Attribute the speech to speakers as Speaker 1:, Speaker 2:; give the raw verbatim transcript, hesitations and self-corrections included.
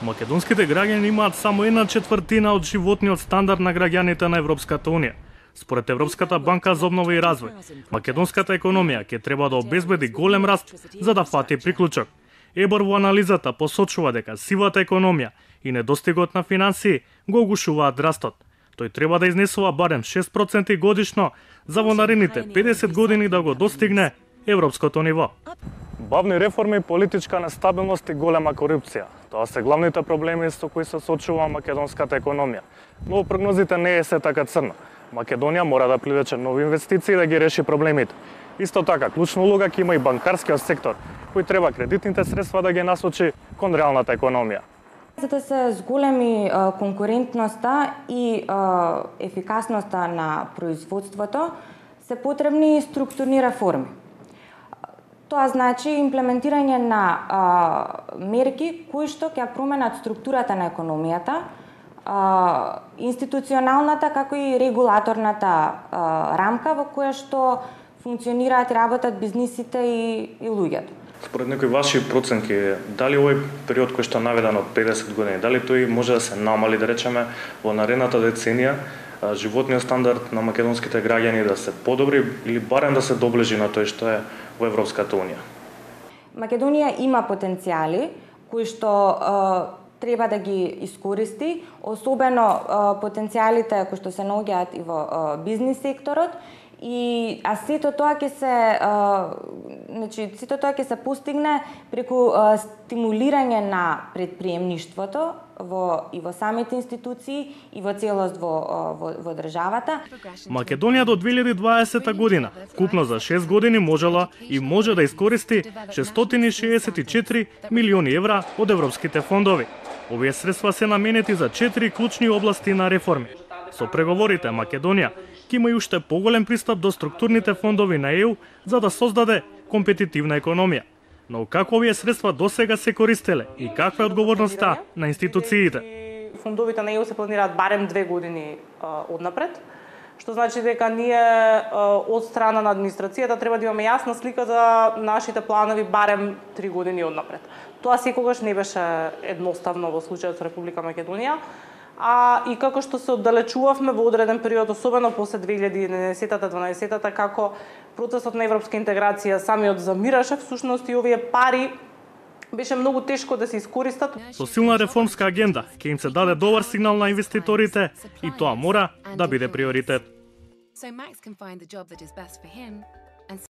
Speaker 1: Македонските граѓани имаат само една четвртина од животниот стандард на граѓаните на Европската унија. Според Европската банка за обнова и развој, македонската економија ќе треба да обезбеди голем раст за да фати приклучок. ЕБОР во анализата посочува дека сивата економија и недостигот на финансии го угушуваат растот. Тој треба да изнесува барем шест проценти годишно за во наредните педесет години да го достигне европското ниво. Бавни реформи, политичка нестабилност и голема корупција. Тоа се главните проблеми со кои се соочува македонската економија. Но прогнозите не е се така црно. Македонија мора да привлече нови инвестиции да ги реши проблемите. Исто така, клучна улога ќе има и банкарскиот сектор, кој треба кредитните средства да ги насочи кон реалната економија.
Speaker 2: За да се зголеми конкурентноста и ефикасноста на производството, се потребни структурни реформи. Тоа значи имплементирање на а, мерки кои што ќе променат структурата на економијата, а, институционалната како и регулаторната а, рамка во која што функционираат и работат бизнисите и, и луѓето.
Speaker 1: Според некои ваши проценки, дали овој период кој што наведен од педесет години, дали тој може да се намали, да речеме, во наредната деценија, животниот стандард на македонските граѓани да се подобри или барем да се доближи на тој што е во Европската унија?
Speaker 2: Македонија има потенцијали кои што е, треба да ги искористи, особено е, потенцијалите кои што се наоѓаат и во е, бизнис секторот. И а сето тоа ќе се е, значи сето тоа ќе се постигне преку е, стимулирање на претприемништвото во и во самите институции и во целост во во, во државата.
Speaker 1: Македонија до две илјади и дваесета година вкупно за шест години можела и може да искористи шестстотини шеесет и четири милиони евра од европските фондови. Овие средства се наменети за четири клучни области на реформи. Со преговорите Македонија ќе има и уште поголем пристап до структурните фондови на ЕУ за да создаде компетитивна економија. Но како овие средства досега се користеле и каква е одговорноста на институциите?
Speaker 3: Фондовите на ЕУ се планираат барем две години а, однапред, што значи дека ние а, од страна на администрацијата треба да имаме јасна слика за нашите планови барем три години однапред. Тоа секогаш не беше едноставно во случајот со Република Македонија. А и како што се оддалечувавме во одреден период, особено после две илјади и еднанаесета-дванаесета, како процесот на европска интеграција самиот замираше, всушност и овие пари беше многу тешко да се искористат.
Speaker 1: Со силна реформска агенда ќе им се даде добар сигнал на инвеститорите и тоа мора да биде приоритет.
Speaker 4: So Max can find the job that is best for him